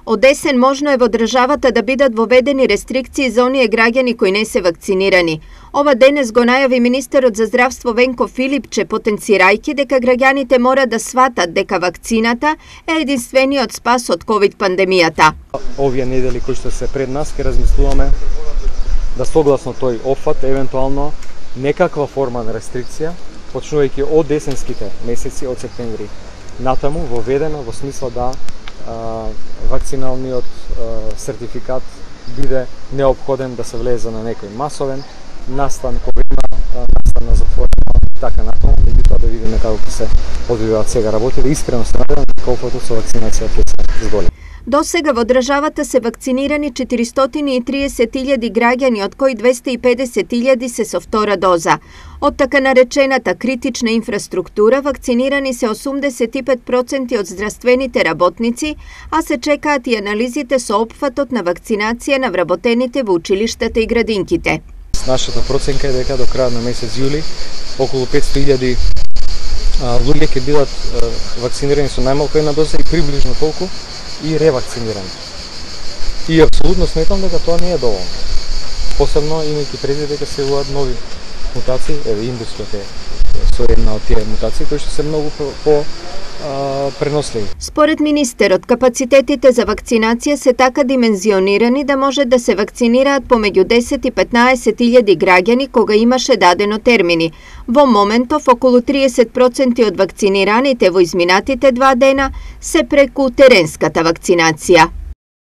Од есен можно е во државата да бидат воведени рестрикции за оние граѓани кои не се вакцинирани. Ова денес го најави министерот за здравство Венко Филипче, потенцирајќи дека граѓаните мора да сватат дека вакцината е единствениот спас од ковид пандемијата. Овие недели кои што се пред нас ќе размислуваме да согласно тој опфат евентуално некаква форма на рестрикција, почнувајќи од есенските месеци, од септември натаму, воведена во смисла да вакциналниот сертификат биде неопходен да се влезе на некој масовен настан, кој има настан на затворено и така натаму, меѓутоа да видиме како ќе се одвиваат сега работите. Искрено се надевам дека опфатот со вакцинацијата ќе се зголеми. До сега во државата се вакцинирани 430.000 граѓани, од кои 250.000 се со втора доза. Од така наречената критична инфраструктура вакцинирани се 85% од здравствените работници, а се чекаат и анализите со опфатот на вакцинација на вработените во училиштата и градинките. Нашата проценка е дека до крајот на месец јули околу 500.000 луѓе ќе бидат вакцинирани со најмалку една доза и приближно толку и ревакцинирани. И апсолутно сметам дека тоа не е доволно. Посебно имајќи предвид дека се јавуваат нови мутации, еве индускиот е со една од тие мутации кои што се многу по преносливи. Според министерот, капацитетите за вакцинација се така димензионирани да може да се вакцинираат помеѓу 10 и 15.000 граѓани кога имаше дадено термини. Во моментов, околу 30% од вакцинираните во изминатите 2 дена се преку теренската вакцинација.